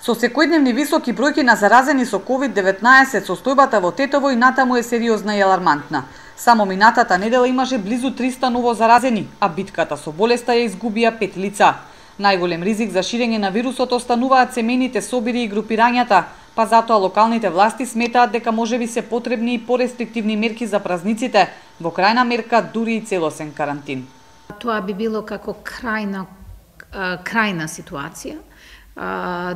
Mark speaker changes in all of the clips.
Speaker 1: Со секојдневни високи бројки на заразени со COVID-19, состојбата во Тетово и натаму е сериозна и алармантна. Само минатата недела имаше близу 300 ново заразени, а битката со болеста ја изгубија 5 лица. Најголем ризик за ширење на вирусот остануваат семејните собири и групирањата, па затоа локалните власти сметаат дека можеби се потребни и порестриктивни мерки за празниците, во крајна мерка дури и целосен карантин.
Speaker 2: Тоа би било како крајна ситуација.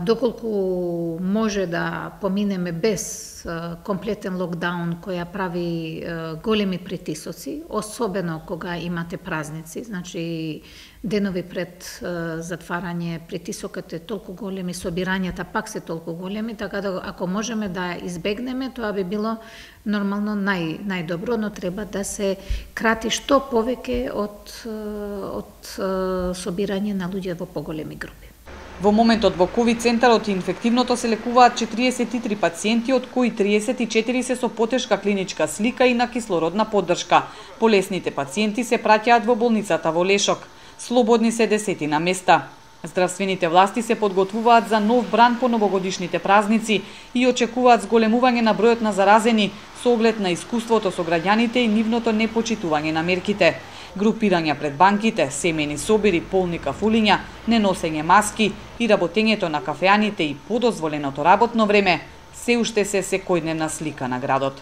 Speaker 2: Доколку може да поминеме без комплетен локдаун која прави големи притисоци, особено кога имате празници, значи денови пред затварање, притисокот е толку голем и собирањата пак се толку големи, така да ако можеме да избегнеме, тоа би било нормално најдобро, но треба да се крати што повеќе од собирање на луѓе во поголеми групи.
Speaker 1: Во моментот во ковид центарот и инфективното се лекуваат 43 пациенти, од кои 34 се со потешка клиничка слика и на кислородна поддршка. Болесните пациенти се праќаат во болницата во Лешок. Слободни се 10 на места. Здравствените власти се подготвуваат за нов бран по новогодишните празници и очекуваат зголемување на бројот на заразени со оглед на искуството со граѓаните и нивното непочитување на мерките. Групирања пред банките, семејни собири, полни кафулиња, неносење маски и работењето на кафеаните и подозволеното работно време се уште се секојдневна слика на градот.